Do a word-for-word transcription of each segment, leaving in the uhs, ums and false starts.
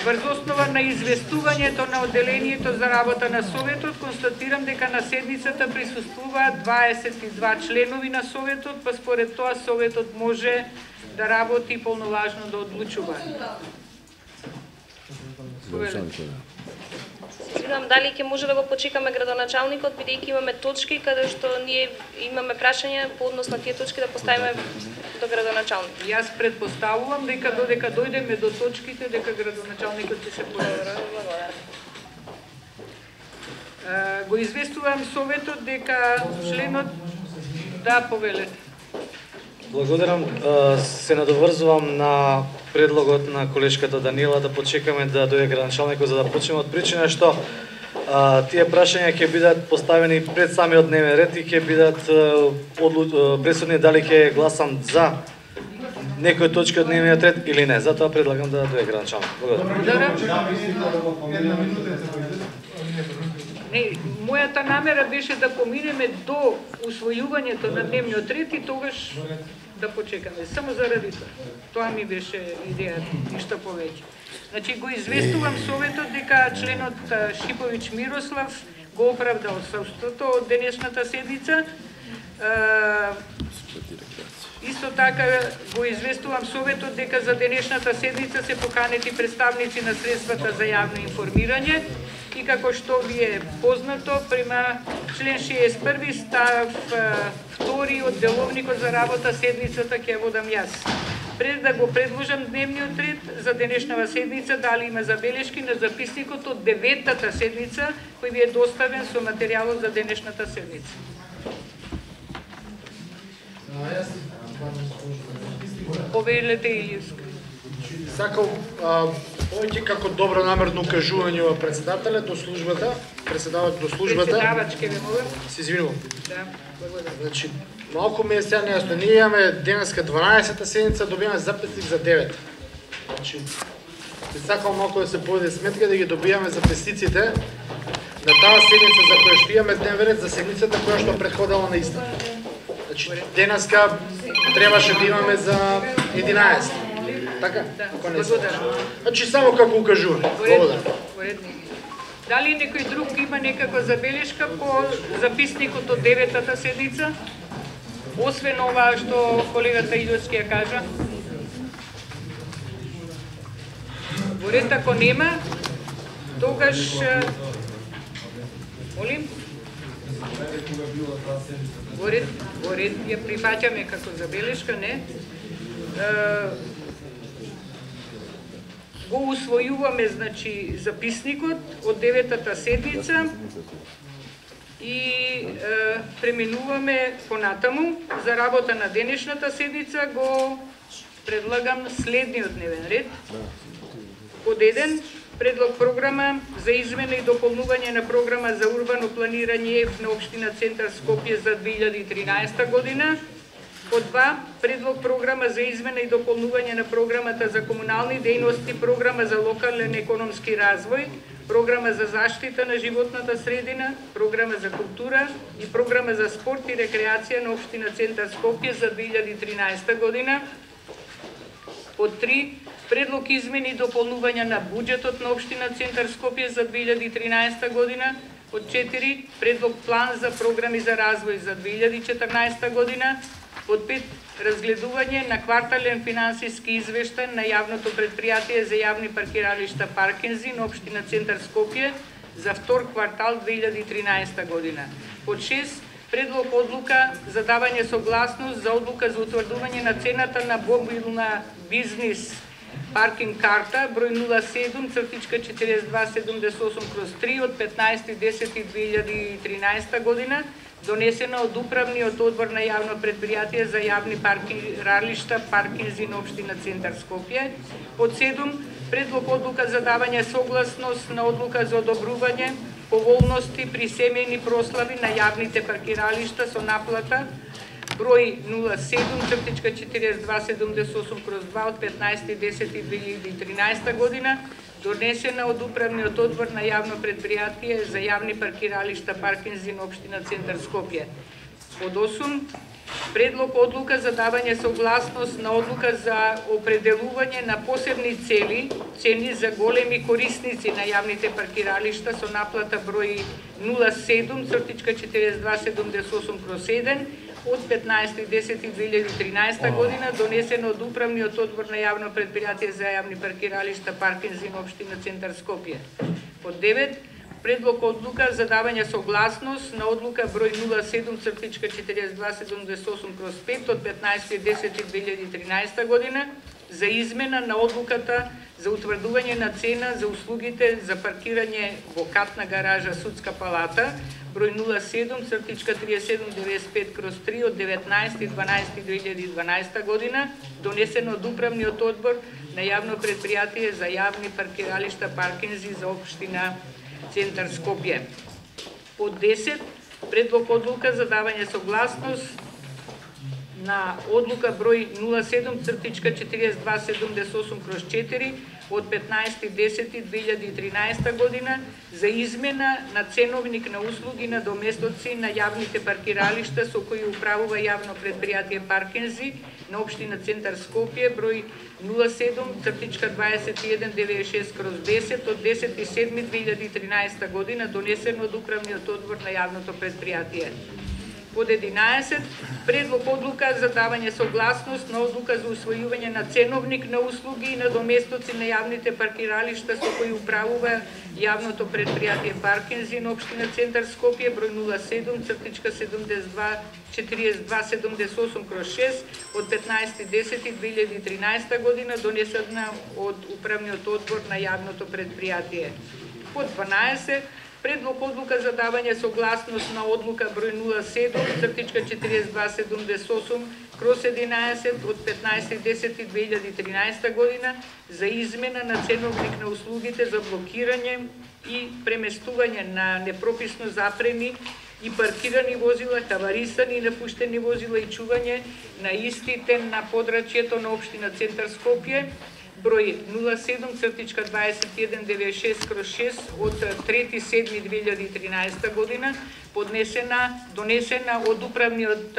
Врз основа на известувањето на одделението за работа на Советот, констатирам дека на седницата присуствуваат дваесет и два членови на Советот, па според тоа Советот може да работи полноважно да одлучува. Извинувам, дали ќе може да го почекаме градоначалникот, бидејќи имаме точки каде што ние имаме прашања по однос на тие точки да поставиме до градоначалникот. Јас претпоставувам дека додека дојдеме до точките, дека градоначалникот ќе се појави. Го известувам Советот дека членот да повелете. Благодарам. Се надоврзувам на предлогот на колешката Данила да почекаме да дојде градоначалникот за да почнеме од причина што а, тие прашања ќе бидат поставени пред самиот дневен ред и ќе бидат одлу... пресудни дали ќе гласам за некој точка од дневниот ред или не. Затоа предлагам да дојде градоначалникот. Благодарам. Не, мојата намера беше да поминеме до усвојувањето на дневниот ред и тогаш да почекаме. Само заради тоа. Тоа ми беше идејата, ништо повеќе. Значи го известувам Советот дека членот Шиповиќ Мирослав го оправдал отсуството од денешната седница. Исто така го известувам Советот дека за денешната седница се поканети представници на средствата за јавно информирање и како што ви е познато, према член шеесет и први став втори од деловникот за работа седницата ќе водам јас. Пред да го предложам дневниот ред за денешната седница, дали има забелешки на записникот од деветата седница, кој ви е доставен со материјалот за денешната седница. Повелете Илијска. Сакам повеќе како добронамерно укажување во председателя до службата, председавач до службата. Председавачке ве молам. Се извинувам. Да, благодарам. Значи, малку ми е сега нејасно. Ние имаме денеска дванаесета седница, добиваме записник за девет. Значи, би сакам малку да се поведе сметка да ги добиваме записниците на таа седница за која што имаме дневен ред за седницата која што претходела на иста. Значи, денеска требаше да имаме за единаесет. Така? Да, благодарам. Значи, само како укажуваме. Благодарам. Дали некој друг има некаква забелешка по записникот од деветата седница? Освен ова што колегата Илијски ја кажа? Во ред, ако нема, тогаш... Молим? Во ред, во ред ја прифаќаме како забелешка, не? Го усвојуваме, значи, записникот од деветата седница и е, преминуваме понатаму. За работа на денешната седница го предлагам следниот дневен ред. Под еден, предлог програма за измена и дополнување на програма за урбано планирање на општина Центар Скопје за две илјади и тринаесета година. Под два, предлог програма за измена и дополнување на програмата за комунални дејности, програма за локален економски развој, програма за заштита на животната средина, програма за култура и програма за спорт и рекреација на општина Центар Скопје за две илјади и тринаесета година. Под три, предлог измени и дополнување на буџетот на општина Центар Скопје за две илјади и тринаесета година. Под четири, предлог план за програми за развој за две илјади и четрнаесета година. Под пет, разгледување на квартален финансиски извештај на јавното предпријатие за јавни паркиралишта Паркинзи на општина Центар Скопје за втор квартал две илјади и тринаесета година. Под шест, предлог одлука за давање согласност за одлука за утврдување на цената на мобилна бизнис паркинг карта број нула седум четириесет и два седумдесет и осум кроз три од петнаесети десети две илјади и тринаесета година, донесена од Управниот одбор на јавно предпријатие за јавни паркиралишта Паркинзи на општина Центар Скопје. Под седум, предлог одлука за давање согласност на одлука за одобрување поволности при семејни прослави на јавните паркиралишта со наплата број нула седум четириесет и два седумдесет и осум кроз два од петнаесети десети две илјади и тринаесета година, донесена од Управниот одбор на јавно предпријатие за јавни паркиралишта Паркинзи на општина Центар Скопје. Под осум, Предлог одлука за давање согласност на одлука за определување на посебни цели, цени за големи корисници на јавните паркиралишта со наплата број нула седум четириесет и два седумдесет и осум кроз еден од петнаесети десети две илјади и тринаесета година, донесено од Управниот одбор на јавно предпријатие за јавни паркиралишта Паркинзи на општина Центар Скопје. Под девет, предлог одлука за давање согласност на одлука број нула седум четириесет и два седумдесет и осум кроз пет од петнаесети десети две илјади и тринаесета година за измена на одлуката за утврдување на цена за услугите за паркирање во катна гаража Судска палата број нула седум триесет и седум деветдесет и пет кроз три од деветнаесети дванаесети две илјади и дванаесета година, донесено од Управниот одбор на јавно предпријатие за јавни паркиралишта Паркинзи за општина Центар Скопје. Под десет, предлог одлука за давање согласност на одлука број нула седум четириесет и два седумдесет и осум кроз четири од петнаесети десети две илјади и тринаесета година за измена на ценовник на услуги на доместоци на јавните паркиралишта со кои управува јавно предпријатие Паркинзи на општина Центар Скопје број нула седум дваесет и еден деветдесет и шест кроз десет од десети седми две илјади и тринаесета година, донесено од Управниот одбор на јавното предпријатие. Под единаесет, предлог одлука за давање согласност на одлука за усвојување на ценовник на услуги и на доместоци на јавните паркиралишта со кои управува јавното предпријатие Паркинзи на општина Центар Скопје број нула седум седумдесет и два четириесет и два седумдесет и осум кроз шест од петнаесети десети две илјади и тринаесета година, донесена од Управниот одбор на јавното предпријатие. Под дванаесет, предлог одлука за давање согласност на одлука број нула седум четириесет и два седумдесет и осум кроз единаесет од петнаесети десети две илјади и тринаесета година за измена на ценовник на услугите за блокирање и преместување на непрописно запрени и паркирани возила, таварисани и напуштени возила и чување на истите на подрачјето на општина Центар Скопје број нула седум дваесет и еден деветдесет и шест кроз шест од трети седми две илјади и тринаесета година, поднесена, донесена од Управниот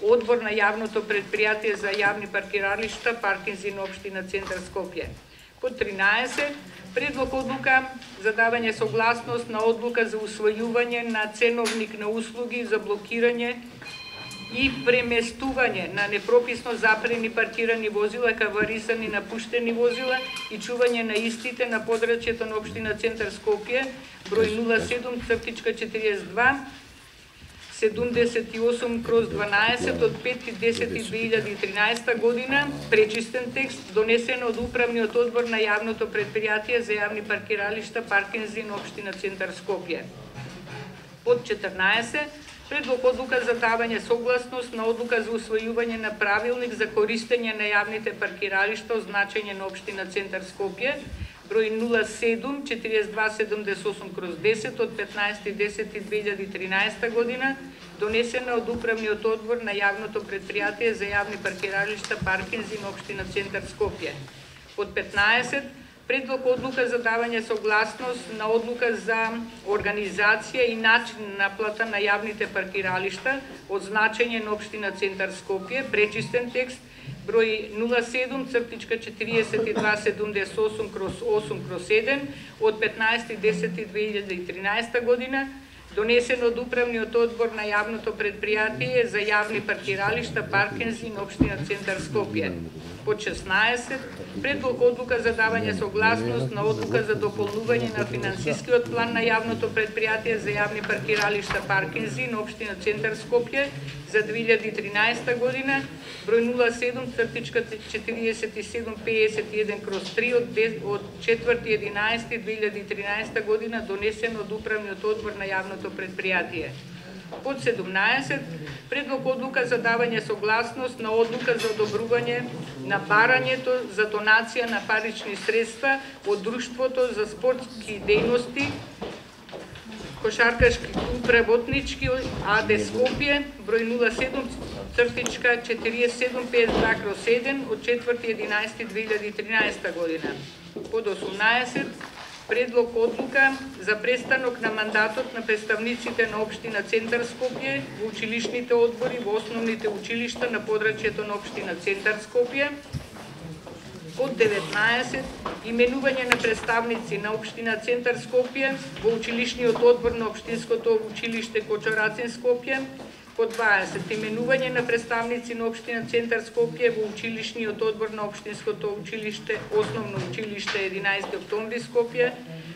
одбор на јавното предпријатие за јавни паркиралишта Паркинзи на општина Центар Скопје. Под тринаесет, предлог одлука за давање согласност на одлука за усвојување на ценовник на услуги за блокирање и преместување на непрописно запрени паркирани возила, каварисани напуштени возила и чување на истите на подрачјето на општина Центар Скопје број нула седум четириесет и два седумдесет и осум кроз дванаесет од пети десети две илјади и тринаесета година, пречистен текст, донесен од Управниот одбор на јавното предпријатие за јавни паркиралишта Паркинзи на општина Центар Скопје. Под четрнаесет, предлог одлука за давање согласност на одлука за усвојување на правилник за користење на јавните паркиралишта означање на општина Центар Скопје број нула седум четириесет и два седумдесет и осум кроз десет од петнаесети десети две илјади и тринаесета година, донесена од Управниот одбор на јавното предпријатие за јавни паркиралишта Паркинзи на општина Центар Скопје. Под петнаесет, предлог одлука за давање согласност на одлука за организација и начин на наплата на јавните паркиралишта од значење на општина Центар Скопје, пречистен текст, број нула седум четириесет и два седумдесет и осум кроз осум кроз еден од петнаесети десети две илјади и тринаесета година, донесен од Управниот одбор на јавното предпријатие за јавни паркиралишта Паркинзи на општина Центар Скопје. Под шеснаесет, предлог одлука за давање согласност на одлука за дополнување на финансискиот план на јавното предпријатие за јавни паркиралишта Паркинзи на општина Центар Скопје за две илјади и тринаесета година, број нула седум четириесет и седум пеесет и еден кроз три од четврти единаесети две илјади и тринаесета година, донесен од Управниот одбор на јавното предпријатие. Под седумнаесет, предлог одлука за давање согласност на одлука за одобрување на барањето за донација на парични средства од Друштвото за спортски дејности Кошаркашки клуб работнички АД Скопје, број нула седум четириесет и седум пеесет и два еден од четврти единаесети две илјади и тринаесета година. Под осумнаесет, Предлог одлука за престанок на мандатот на представниците на општина Центар Скопје во училишните одбори во основните училишта на подрачјето на општина Центар Скопје. Под деветнаесет, именување на представници на општина Центар Скопје во училишниот одбор на општинското училиште Кочорацин Скопје. Под дваесет, именување на представници на општина Центар Скопје во училишниот одбор на општинското училиште Основно училиште единаесети октомври Скопје.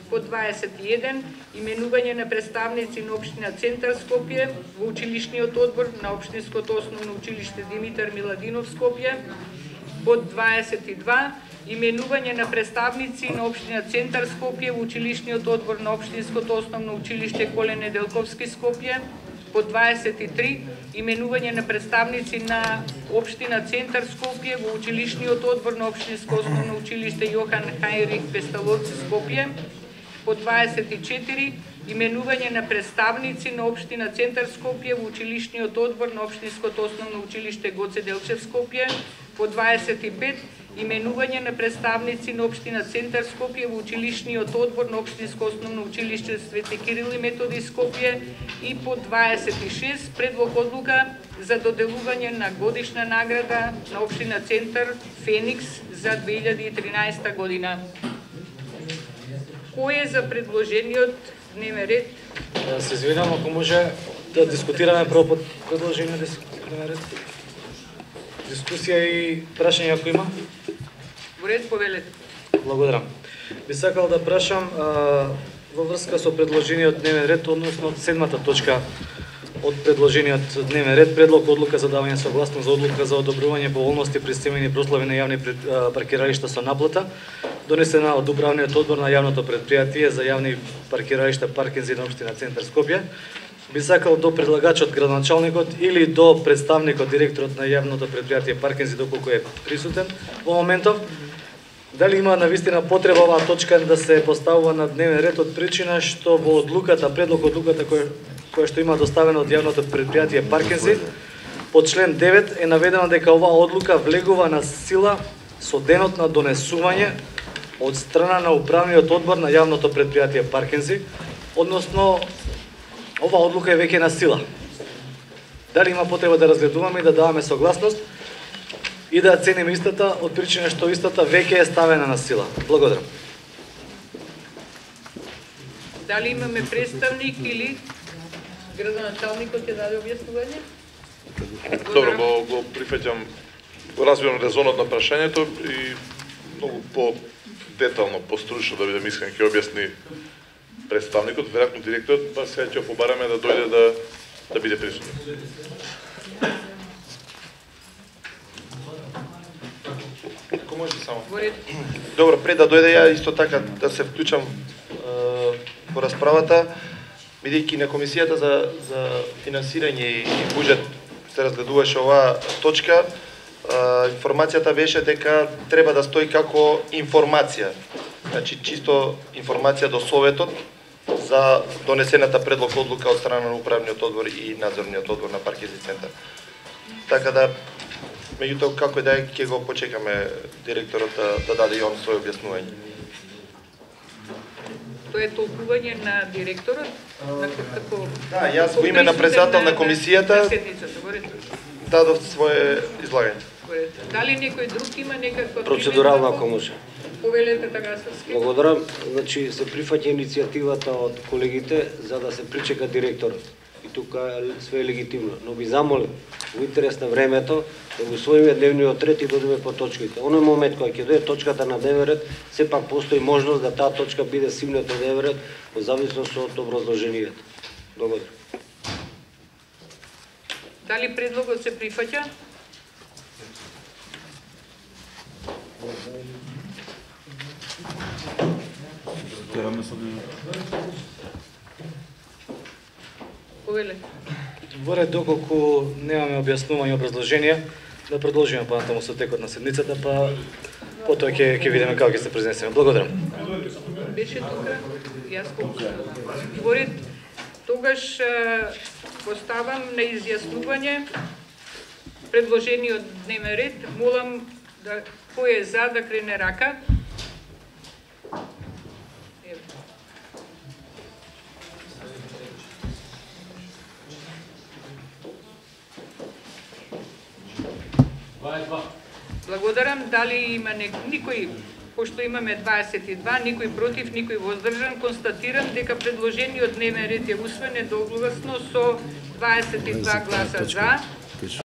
Под дваесет и еден, именување на представници на општина Центар Скопје во училишниот одбор на општинското Основно училиште Димитар Миладинов Скопје. Под дваесет и два, именување на представници на општина Центар Скопје во училишниот одбор на општинското Основно училиште Коле Неделковски Скопје. Под дваесет и три, именување на представници на општина Центар Скопје во училишниот одбор на општинско Основно училиште Јохан Хајрих Песталовци Скопје. Под дваесет и четири, именување на представници на општина Центар Скопје во училишниот одбор на општинското Основно училиште Гоце Делчев Скопје. Под дваесет и пет, именување на представници на општина Центар Скопје во училишниот одбор на општинско Основно училиште Свети Кирил и Методи Скопје. И под дваесет и шест, предлог одлука за доделување на годишна награда на општина Центар Феникс за две илјади и тринаесета година. Кој е за предложениот дневен ред? Се извинувам, ако може да дискутираме прво под предложениот дневен ред. Дискусија и прашање ако има? Во ред, повелете. Благодарам. Би сакал да прашам а, во врска со предложениот дневен ред, односно седмата точка од предложениот дневен ред, предлог одлука за давање согласност за одлука за одобрување поволности при стемени прослави на јавни паркиралишта со наплата, донесена од управниот одбор на јавното предпријатие за јавни паркиралишта паркинзи на општина Центар Скопје. Би сакал до предлагачот, градоначалникот или до представникот, директорот на јавното предпријатие паркинзи, доколку е присутен во моментов, дали има навистина потреба оваа точка да се поставува на дневен ред од причина што во одлуката, предлог одлуката која, која што има доставено од јавното предпријатие паркинзи, под член девет е наведено дека оваа одлука влегува на сила со денот на донесување од страна на управниот одбор на јавното предпријатие паркинзи, односно оваа одлука е веќе на сила. Дали има потреба да разгледуваме и да даваме согласност и да цениме истата од причина што истата веќе е ставена на сила. Благодарам. Дали имаме представник или градоначалникот ќе даде објаснување? Добро, го, го прифаќам, разбирам резонот на прашањето и многу по-детално, постручно да бидем искрен ќе објасни представникот, веројатно директорот, па сега ќе побараме да дојде да да биде присутен. Ако може само. Добро, пред да дојде ја исто така да се вклучам е, во расправата, бидејќи на комисијата за за финансирање и буџет се разгледуваше оваа точка, е, информацијата беше дека треба да стои како информација. Значи чисто информација до Советот за донесената предлог одлука од страна на управниот одбор и надзорниот одбор на Паркинзи центар. Така да, меѓутоа како и да е, ќе го почекаме директорот да, да даде и он своје објаснување. Тоа е толкување на директорот? На како... Да, јас во име на председател на комисијата дадов своје излагање. Дали некој друг има некаква процедурално, ако може? Повелете Тагасовски. Благодарам. Значи се прифаќа иницијативата од колегите за да се причека директорот. И тука све е легитимно, но би замолил во интерес на времето да го усвоиме дневниот ред и додиме по точките. Оној момент кога ќе дојде точката на дневен ред, сепак постои можност да таа точка биде симната на дневен ред во зависност од образложението. Благодарам. Дали предлогот се прифаќа? Повеле. Во ред, доколку немаме објаснување и образложение, да продолжиме понатаму со текот на седмицата, па потоа ќе ќе видиме како ќе се произнесеме. Благодарам. Беше тука, јас покажам. Во ред, тогаш поставам на изјаснување предложениот дневен ред. Молам да кој е за да крене рака. Еве. Благодарам. Дали има никој, пошто имаме дваесет и два, никој против, никој воздржан, констатирам дека предложениот дневен ред е усвоен едногласно со дваесет и два гласа за,